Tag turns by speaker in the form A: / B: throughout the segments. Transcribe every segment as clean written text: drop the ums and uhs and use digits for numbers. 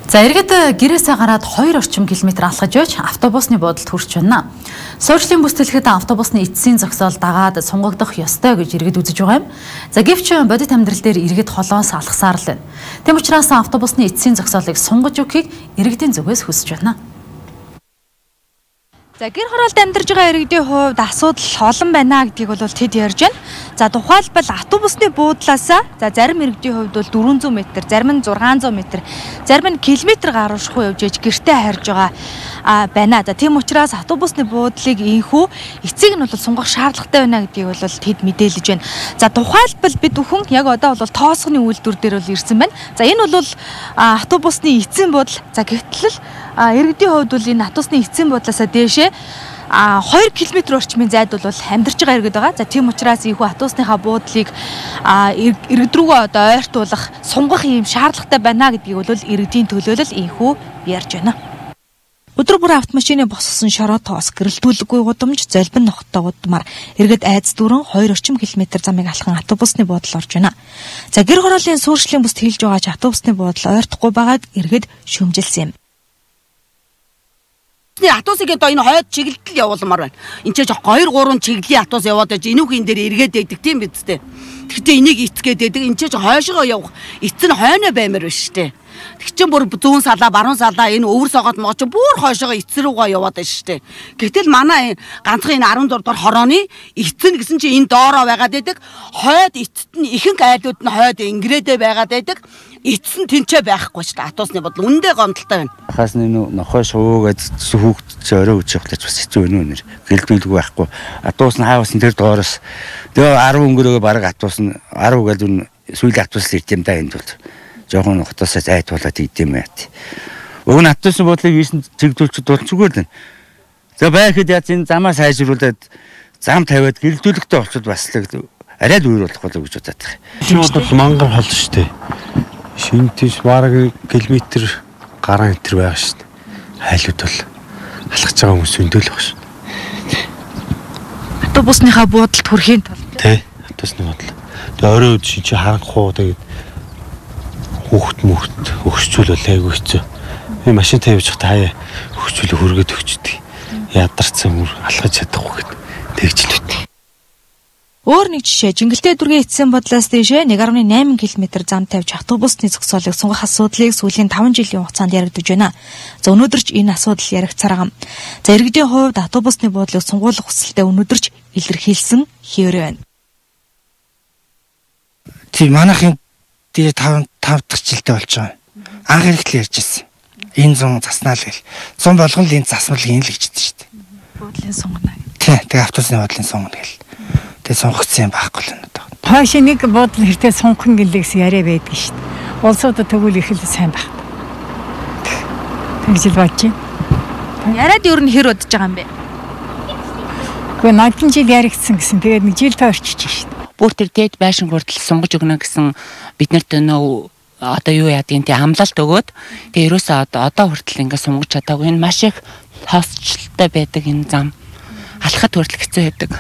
A: За иргэд гэрээсээ гараад 2 орчим километр алхаж явж автобусны буудалд хүрч байна. Суурьшлийн бүсэлхэд автобусны эцсийн зогсоол дагаад сунгагдах ёстой гэж иргэд үзэж байгаа юм. За гэвч бодит амьдрал дээр иргэд холоос алхасаар л байна. Тэм учраас автобусны эцсийн зогсоолыг сунгаж өгөхийг иргэдийн зүгээс хүсэж байна. За гэр хороолд амьдарж байгаа иргэдийн хувьд асуудал олон байна гэдгийг бол тэд ярьж байна. За тухайлбал автобусны буудлаас зарим иргэдийн хувьд бол 400 м, зарим нь 600 м, зарим нь километр гаруйшгүй явж иж гэртээ харж байгаа байна. За тийм учраас автобусны буудлыг инхүү эцэг нь бол сунгах шаардлагатай байна гэдгийг бол тэд мэдээлж байна. За тухайлбал бид бүхэн яг одоо бол тоосгоны үйлдвэр дээр бол ирсэн байна. За энэ бол автобусны эцсийн буудал. За гэтэл иргэдийн хувьд бол энэ автобусны эцсийн буудлаас дээшээ 2 км орчмын зайд бол амьдарч байгаа иргэд байгаа. За тийм учраас ийхүү автобусныхаа буудлыг иргэд рүүгээ одоо ойртуулах, сунгах юм шаардлагатай байна гэдгийг бол иргэдийн төлөөлөл ийхүү ярьж байна. Өдөр бүр автомашины босгосон шороо тоос, гэрэлтүүлэггүй гудамж, золбин нохтой гудмаар иргэд айц дүүрэн 2 орчим километр замыг алхан автобусны буудал орж байна. За гэр хорооллын суурьшлийн бүст хийлж байгаа ч автобусны буудал ойртохгүй байгааг иргэд шүүмжилсэн юм.
B: Автобусыг одоо энэ хойд чиглэлд явуулмаар байна. Энд ч 2-3 чиглэлийн автобус яваад байж энүүхийн дээр эргээд байдаг тийм биз дээ. Тэгэхдээ энийг эцгээд байдаг. Энд ч хойшоо явах эц нь хойноо баймаар байна шүү дээ. Тэг чин бүр зүүн салаа, баруун салаа энэ өвөр согоод могч бүр хойшоо эц рүүгээ яваад байна шүү дээ. Гэтэл манай ганцхан энэ 14 дугаар хорооны эц нь гэсэн чинь энэ доороо байгаад байдаг. Хойд эцэд нь ихэнх айлууд нь хойд ингэрээдээ байгаад байдаг. Эцсэн тэнцээ байхгүй шүү дээ. Автобусны бодол үндэ гомдолтой байна.
C: Хаас нохой шуугаад хүүхд орой үжих гэж бас хэцүү байна нэр. Гэлдүүлгүй байхгүй. Автобус нь хаавсан тэр доороос тэгээ 10 өнгөрөөгөө баг автобус нь 10 гэж сүүлийн автобус ирд юм да энд бол. Жохон хотоосоо зайтуулаад идэм байт. Уг нь автобусны бодлыг ийсэн чиглүүлчихэд бол зүгээр л. За байхэд яаж энэ замаа сайжруулад зам тавиад гэлдүүлэгтэй болчиход бас л арай л үер болох болов гэж бодоод байгаа.
D: Энэ бол мангар хол шүү дээ. Шинэ тийш бараг километр гаруй метр байгаа шүү дээ. Хайлууд бол алхаж байгаа хүмүүс өндөл баг шүү.
A: Автобусныхаа буудалд хүрэхийн тулд
D: тий, автобусны буудал. Тэгээ орой үд чи харахгүй тэгээд хүүхд өгсчүүл айгүй хэцүү. Би машин тавьж хата хаяа өгсчүүл хөргөд өгчдөг. Ядарсан мөр алхаж чадахгүй гэд тэгж л үт.
A: Өөр нэг жишээ, Жингэлтэй дүүргийн эцсийн бодлоос дэшээ 1.8 км зам тавьж автобусны зогсоолыг сунгах асуудлыг сүүлийн 5 жилийн хугацаанд яригдж байна. За өнөөдөр ч энэ асуудал яригцаар байгаа. За иргэдийн хувьд автобусны буудлыг сунгуулах хүсэлтэд өнөөдөр ч илэрхийлсэн хэвээр байна.
E: Тийм манайхын дээр 5 дахь жилдээ болж байгаа. Анх хэрэглээ ярьж ирсэн. Энэ 100 заснаа л гэл. 100 болгон л энэ засмал ийм л гэж хэлдэг шүү дээ.
A: Буудлын сунгана.
E: Тийм, тэгээ автобусны буудлын сунгана гэл. Тэгээ сунгацсан юм байхгүй л надад.
F: Хойш нэг буудлын хэртээ сунхан гэлээс яриа байдаг шүү дээ. Улсуудад тэгвэл их л сайн байх. Тэгж л бодож байна.
A: Яриад юу н хэр удаж байгаа юм бэ?
F: Гэхдээ 80 жил яригдсан гэсэн. Тэгээд нэг жил тойрчиж шүү дээ.
G: Бүр тэр дээд байшин хүртэл сунгаж өгнө гэсэн биднэрт нөө одоо юу яадгийн тий амлалт өгөөд тэгээ ерөөсөө одоо хүртэл ингээд сунгаж чадаагүй энэ маш их хосчлолтой байдаг энэ зам алхахад хүртэл хэцүү байдаг.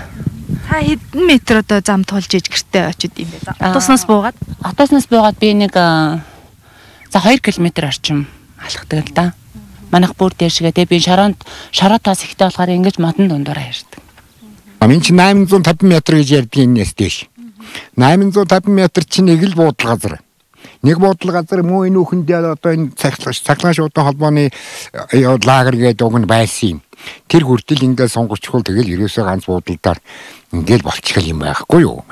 A: Та хэдэн метр одоо зам тулж иж гэртээ очиж юм бэ? Автобуснаас буугаад?
G: Автобуснаас буугаад би нэг за 2 км орчим алхдаг л да. Манайх бүр дээшгээ тэгээ би шороотоос ихтэй болохоор ингэж модон дундуур ярьдаг.
H: Амин чи 850 м гэж ярьдаг энэс дээш. 850 м чинь нэг л буудлын газар. Нэг буудлын газар муу энэ үхэндээ одоо энэ цаглан шуудан холбооны лагер гэдэг уг нь байсан юм. Тэр хүртэл ингээд сонгочхол тэгэл ерөөсөө ганц буудлаар ингээд болчихгол юм байхгүй юу?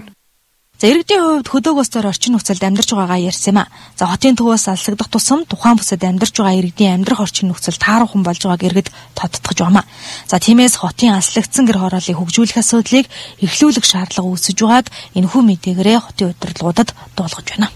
A: За иргэдийн хувьд хөдөөгөөс зөр орчин нөхцөлд амьдарч байгаагаа ярьсан юм а. За хотын төвөөс алсагдах тусам тухайн бүсэд амьдарч байгаа иргэдийн амьдрах орчин нөхцөл тааруухан болж байгааг иргэд тодтогч байна. За тиймээс хотын алслагдсан гэр хорооллыг хөгжүүлэх асуудлыг эхлүүлэх шаардлага үүсэж байгааг энэхүү мэдээгээрээ хотын удирдлагуудад дуулгаж байна.